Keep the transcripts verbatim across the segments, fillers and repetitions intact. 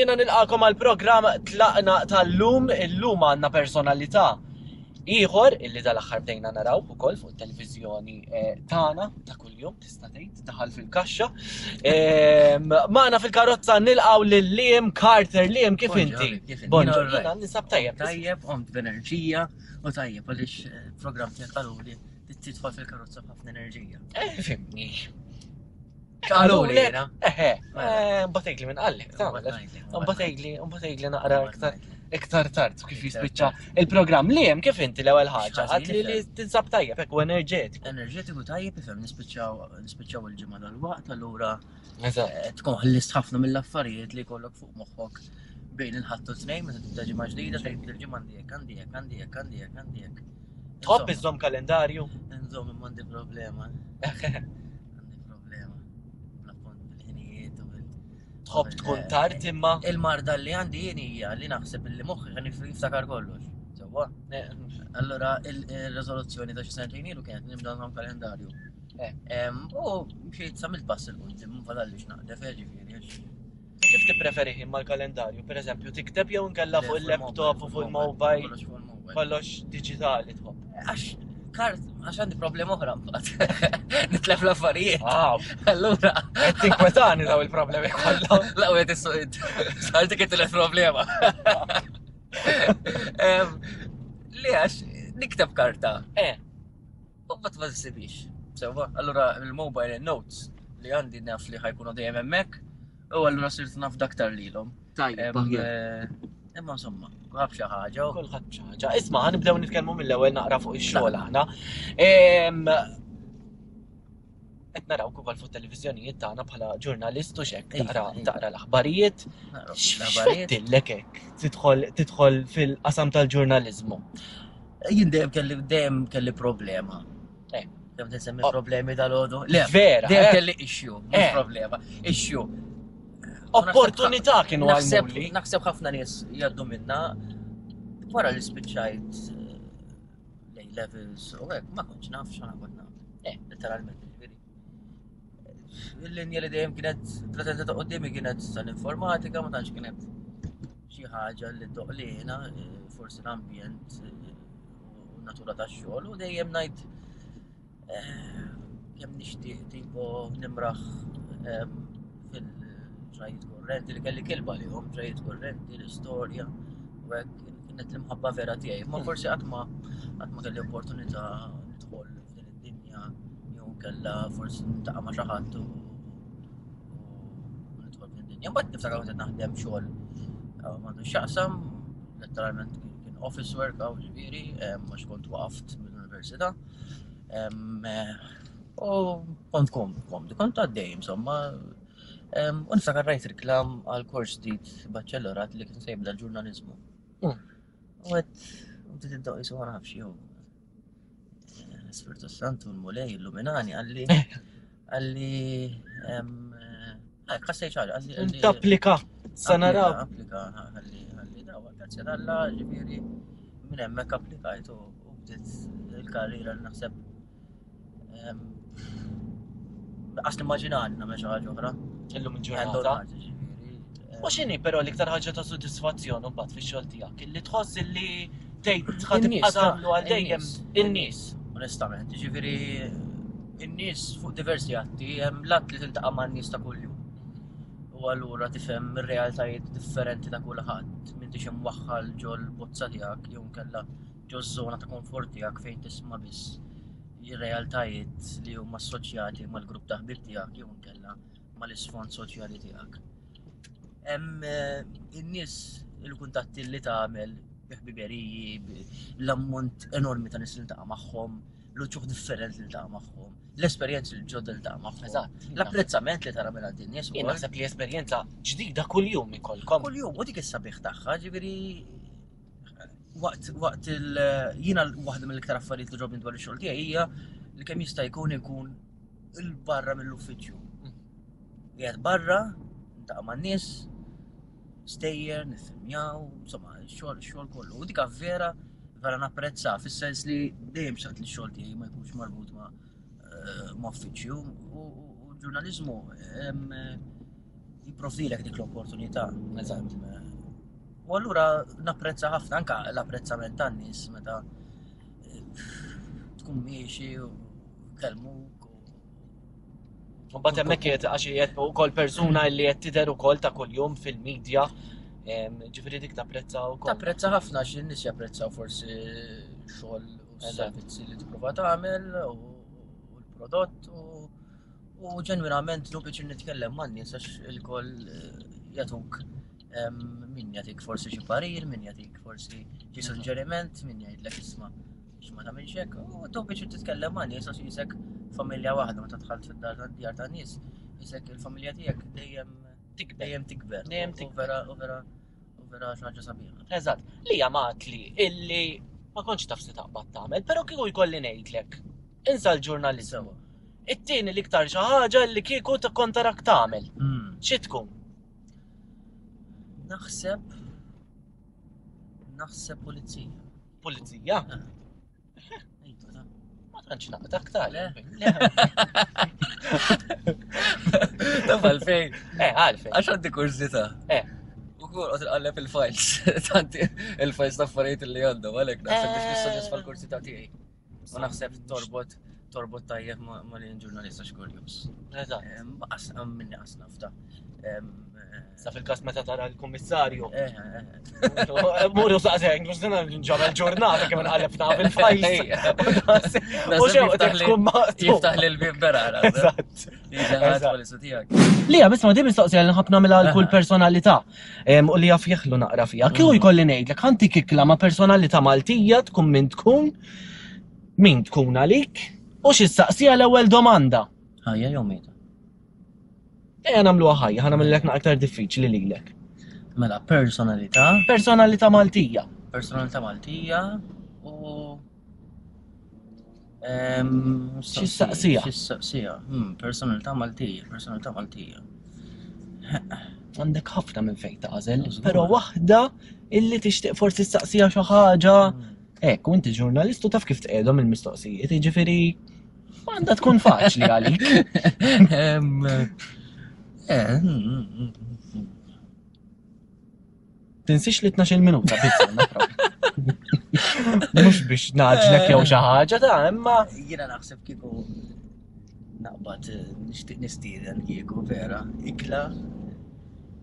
Jiena nilqakom għal programm Tlaqna tal-lum. Illum għandna personalità ieħor illi dal-aħħar bdejna naraw ukoll fuq it-televiżjoni eh, tagħna ta' kuljum, tista' tgħid daħal fil-kaxxa. Ehm, Magħna fil-karozza nilqgħu lil Liam Carter. Liam, kif inti? Kif inti? Bonġu, Jien all right. jiena ninsab tajjeb. Tajjeb, qomt b'enerġija u tajjeb għaliex eh, program tiegħek qaluli li tidħol fil-karozza b'ħafna enerġija. Eh, fimni. Qaluli jiena. Eħe, Mela. eh, mbagħad tgħidli minn qallek, tagħmel. Mbagħad Mbagħad tgħidli, mbagħad tgħidli naqra iktar iktar tard kif Iktar jispiċċa il-programm. Liam, kif inti l-ewwel ħaġa? X'ħażin Għad li li tinsab tajjeb, hekk u enerġetiku. Enerġetiku tajjeb, ifhem, nispiċċaw nispiċċaw il-ġimgħa dal-waqt, allura Eżatt. eh, tkun ħlist ħafna mill-affarijiet li jkollok fuq moħħok bejn il-Ħadd u t-Tnejn meta tibda ġimgħa ġdida, tgħid il-ġimgħa għandi hekk, għandi hekk, għandi hekk, għandi hekk, għandi hekk. Tħobb Insomma, iżżomm kalendarju? Nżomm, imma għandi problema. Għandi problema. Bl-appont bil-ħinijiet u bil- Tħobb tkun tard imma. Il-marda li għandi jien hija li naħseb li moħħi kien jiftakar kollox. Sewwa. Allura il-riżoluzzjoni ta' xi sentejn ilu kienet nibda nżomm kalendarju. Eh. Em, U mxiet sa mill-pass 'il quddiem, ma fadallix naqdef, eh, ġifieri. għax- U kif tippreferi imma l-kalendarju? Per eżempju, tikteb jew inkella fuq il-laptop u fuq il-mobile, Kollox fuq il-mobile. kollox digitali tħobb. Għax kart, għax għandi problema oħra mbagħad. Nitlef l-affarijiet. Ah, Allura, qed tinkwetani daw il-problemi kollha. La, u għed is-suqid. Sar dik it problema. Em, Li għax nikteb karta Eh, u bat ma tsibix. Sewwa, allura il-mobile notes li għandi naf li ħa jkunu dejjem hemmhekk u allura sirt naf daktar lilhom. tajjeb. Em, eh, Imma insomma, kulħadd xi ħaġa. u- Kulħadd xi ħaġa. Isma', ħa nibdew nitkellmu mill-ewwel naqra fuq ix-xogħol aħna. Em, Qed naraw ukoll fuq televiżjonijiet tagħna bħala ġurnalist u xek Iva, taqra iva. taqra l-aħbarijiet. Naqra l-aħbarijiet. X'fettillek hekk tidħol tidħol fil-qasam tal-ġurnaliżmu? Jien dejjem kelli dejjem kelli problema. Eh. Kemm tinsemmi Oh. problemi dal-għodu? Le, Vera, dejjem eh? kelli issue, mhux Eh. problema. Issue. Opportunità kienu Naħseb għajmuli. naħseb ħafna nies jgħaddu minna wara li spiċċajt eh, l-A levels u hekk ma kontx naf x'għana kont nagħmel. Eh. Letteralment, ġifieri. Il-linja li dejjem kienet pretenda ta' qudiemi kienet tal-informatika, ma tantx kienet xi ħaġa li doqlina, eh, forsi l-ambjent eh, u natura tax-xogħol u dejjem ngħid eh, kemm nixtieq tipo nimraħ em, fil-ġrajiet kurrenti li kelli kilba li hom ġrajiet kurrenti, l-istorja u hekk kienet l-imħabba vera tiegħi. Ma Mm. forsi qatt ma qatt ma kelli opportunità nidħol f'din id-dinja jew kella forsi niltaqa' ma' xi ħadd u u nidħol f'din id-dinja. Mbagħad niftakar kont qed naħdem xogħol eh, m'għandu x'jaqsam, letteralment kien kien office work hawn ġifieri, em, għax kont waqaft mill-università. Em, eh, U kont kom, kom, kont għaddej, insomma. Em, U niftakar rajt reklam għal kors ġdid baċellorat li kien se jibda l-ġurnalizmu. Mm. U għedt, u bdiet id jisu ma nafx jew. Spiritu Santu l-Mulej illuminani qalli qalli em, eh, ħassejt ħaġa, qalli qalli- Tapplika, sa naraw. Applika, qalli qalli dawa, grazzi t'Alla, ġifieri minn hemmhekk applikajt u u bdiet il-karriera li naħseb em, Qas nimmaġinani nagħmel xi ħaġa oħra. Illum Hand on il-ġurnata. heart, ġifieri. em, U x'inhi però l-iktar ħaġa ta' sodisfazzjon mbagħad fix-xogħol tiegħek? Illi tħoss illi tgħid ħa tibqa' In-nies, ta' tagħmlu għal dejjem in-nies. in-nies. Onestament, ġifieri in-nies fuq diversi atti, hemm l-att li tiltaqa' man-nies ta' kuljum. U allura tifhem ir-realtajiet differenti ta' kulħadd, m'intix imwaħħal ġol bozza tiegħek jew nkella ġo żona ta' komfort tiegħek fejn tisma' biss ir-realtajiet li huma assoċjati mal-grupp ta' ħbieb tiegħek jew nkella mal-isfond soċjali tiegħek. Hemm eh, in-nies, il-kuntatti li tagħmel bi ħbiberiji, bi- l-ammont enormi ta' nies li niltaqa' magħhom, l-uċuħ differenti li niltaqa' magħhom, l-esperjenzi l-ġodda li niltaqa' magħhom. Eżatt. L-apprezzament li tara minn għand in-nies Jien ukoll. naħseb li esperjenza ġdida kuljum ikolkom. Kuljum, u dik is-sabiħ tagħha, ġifieri waqt waqt il jiena waħda mill-iktar affarijiet li ġobni dwar ix-xogħol tiegħi hija li kemm jista' jkun ikun il-barra mill-uffiċċju. Qiegħed barra, niltaqa' man-nies, stejjer, niffilmjaw, insomma, x-xogħol x-xogħol kollu. U dik vera vera napprezza fis-sens li dejjem xtaqt li x-xogħol tiegħi ma jkunx marbut ma' eh, ma' uffiċċju u u- u ġurnaliżmu em, Jipprovdilek dik l-opportunità. Eżatt. U allura napprezza ħafna anka l-apprezzament tan-nies meta eh, tkun miexi u kellmuk. U mbagħad hemmhekk qiegħed għax qiegħed ukoll persuna li qed tidher ukoll ta' kuljum fil-medja, em, ġifieri dik tapprezza wkoll. Tapprezza ħafna għax in-nies japprezzaw forsi xogħol u Eżatt. servizzi li tipprova tagħmel u u l-prodott u u ġenwinament nu biex nitkellem man-nies għax ilkoll eh, jagħtuk em, min jagħtik forsi xi parir, min jagħtik forsi xi suġġeriment, min jgħidlek isma' x'ma tagħmilx hekk. U tu biex titkellem man-nies għax jisek familja waħda meta dħalt fid-dar djar tan-nies, jisek il-familja tiegħek dejjem Tikber. dejjem tikber. Dejjem U- u tikber. Vera u vera u vera xi ħaġa sabiħa. Eżatt. Li għamat li illi ma kontx taf se taqbad tagħmel, però kieku jkolli ngħidlek. Insa l-ġurnaliżmu. Sewa. It-tieni l-iktar xi ħaġa li kieku ta' kont tarak tagħmel. Xi tkun? Naħseb naħseb pulizija. Pulizija? Iva, ta' Ma tantx naqta aktar. Le. Taf għalfejn, Eh, għalfejn. għax għandi kurżità. Eh. U kull qed inqalleb il-files, tanti il-files ta' affarijiet li għandhom għalhekk naħseb biex nissodisfa l-kurżità tiegħi. U naħseb torbot torbot tajjeb ma ma li ġurnalista xkurjus. Eżatt. Qas minni qas nafta. Em, Sa fil-każ meta tara l-kummissarju. eh, eh, eh. Muru saqsejn, mux dina nġamel ġurnata kemm nqalleb naf il-fajs. U xew Jiftaħ li- tkun maqtu. Jiftaħ li l-bib bera, naħseb. Eżatt. Jiġi Eżatt. polizija tiegħek. Lija, bisma di mistoqsija li nħobb nagħmilha għal kull Aha. personalità em, u li jaf jeħlu naqra fija. Kieku Mhm. jkolli ngħidlek ħanti kikla ma' personalità Maltija tkun min tkun, min tkun għalik, u xi saqsija l-ewwel domanda. Ħajja jew mejta. Ejja nagħmluha ħajja, ħa nagħmellek naqra aktar diffiċli lilek. Mela, personalità, Personalità Maltija. personalità Maltija u Ehm, Xi saqsija? Xi saqsija. Hmm, personalità Maltija, personalità Maltija. Għandek ħafna minn fejn tagħżel, Żgur. però waħda illi tixtieq forsi saqsija xi ħaġa. Hmm. Ekk, u inti ġurnalistu taf kif tqegħdhom il-mistoqsijiet, jiġifieri għandha tkun faċli għalik. Ehm, eh, hmm, hmm, hmm, hmm. Tinsix li tnax-il minuta biss għandna propju. Mhux biex naġlek jew xi ħaġa ta' imma Jiena naħseb kieku naqbad eh, nixtieq nistieden kieku vera ikla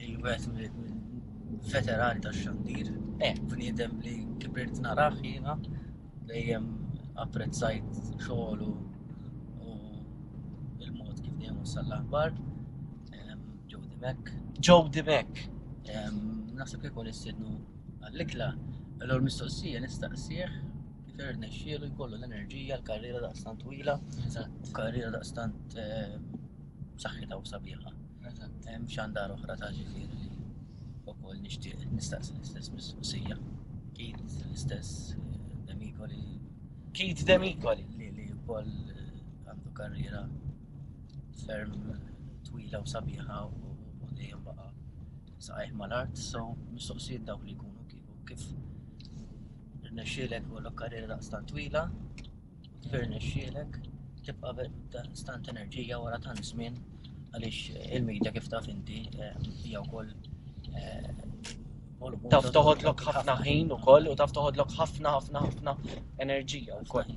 il-wieħed mill-veterani tax-xandir. Eh. Bniedem li kibirt narah jiena dejjem apprezzajt xogħlu u il-mod kif dejjem wassal l-aħbar. Em, Joe Dimech. Joe Dimech. Em, Naħseb kieku nistiednu għall-ikla, allura mistoqsija nistaqsih kif irnexxielu jkollu l-enerġija, l-karriera daqstant twila, Eżatt, u karriera daqstant eh, b'saħħitha u sabiħa. eżatt. Hemm xandar oħra ta' ġifieri li wkoll nixtieq nistaqsi l-istess mistoqsija. Keith l-istess eh, Demicoli Keith Demicoli. li li wkoll eh, għandu karriera ferm twila u sabiħa u u dejjem baqa' saqajh mal-art, so mistoqsijiet dawk li jkunu kieku kif irnexxielek ikollok karriera daqstant twila, u kif irnexxielek tibqa' daqstant enerġija wara tant żmien għaliex il-media kif taf inti eh, hija wkoll eh, volumu Taf toħodlok ħafna ħin ukoll u taf toħodlok ħafna ħafna ħafna enerġija wkoll.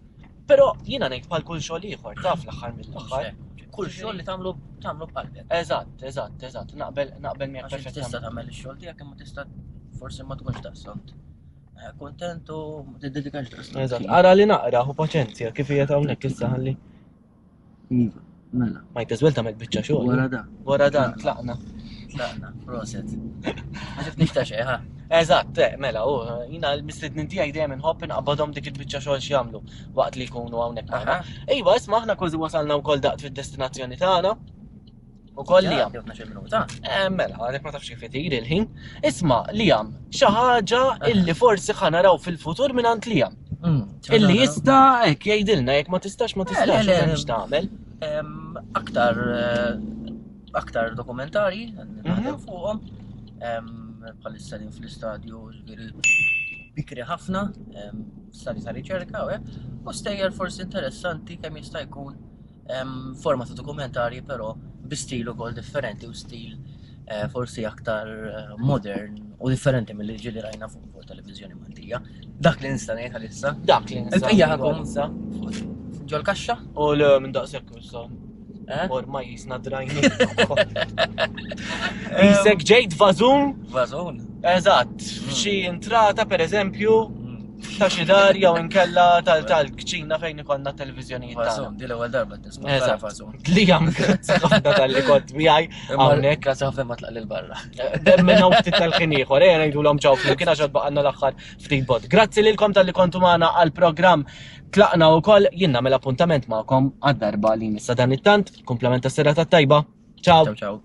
Però jiena ngħid bħal kull xogħol ieħor, taf l-aħħar mill-aħħar. Kull xogħol li tagħmlu tagħmlu b'qalbek. Eżatt, eżatt, eżatt, naqbel naqbel miegħek Għax inti tista' perfettament. tagħmel ix-xogħol tiegħek imma tista' forsi ma tkunx daqstant eh, kontent u ma tiddedikax daqstant. Eżatt, ara li naqra u paċenzja kif hija hawnhekk issa ħalli. Iva, mela. Might as well tagħmel biċċa xogħol. Wara da, Wara dan tlaqna. tlaqna, proset. Ma ġibtniex ta' xejn, ha? Eżatt, eh, mela, u jina l-mistednin tiegħi dejjem inħobb inqabbadhom dik il-biċċa xogħol x'jagħmlu waqt li jkunu hawnhekk magħna. Iva, isma' aħna kważi wasalna wkoll daqt fid-destinazzjoni tagħna. Ukoll li Għaddew tnax-il minuta. Eh, mela, għadek ma tafx kif itir il-ħin. Isma' Liam, xi ħaġa illi forsi ħa naraw fil-futur mingħand Liam. Mm, Illi jista' hekk jgħidilna jekk ma tistax ma Le, tistax le, le. x'tagħmel tagħmel. Em, Aktar eh, aktar dokumentari naħdem Mhm. fuqhom. Em, Bħalissa din fl-istadju ġifieri bikri ħafna, em, stadju ta' riċerka u hekk, u stejjer forsi interessanti kemm jista' jkun em, forma ta' dokumentarji però bi stil ukoll differenti u stil eh, forsi aktar eh, modern u differenti mill-li ġieli rajna fuq fuq televiżjoni Maltija. Dak li nista' ngħid għalissa. Dak li nista' Il-bqija ngħidu ħankun għalissa. Ġol-kaxxa? U le minn daqshekk issa. Eh? Ormai jisna drajni. Jisek ġejt vażun, Vażun. eżatt, f'xi intrata per eżempju ta' xi dar jew inkella tal- tal-kċina fejn ikollna televiżjonijiet tagħna. Vażun, di l-ewwel darba tisma' Eżatt. vażun. Liam, grazzi ħafna talli kont miegħi hawnhekk. Grazzi ħafna ma tlaq lil barra. Minn hawn ftit tal-ħin ieħor, ejja ngħidulhom ċaw flimkien għax baqgħalna l-aħħar ftit bot. Grazzi lilkom talli kontu magħna għall-programm Tlaqna wkoll jien nagħmel appuntament magħkom għad-darba li nissa dan it-tant, kumplament tas-serata tajba. Ciao. Ciao ciao.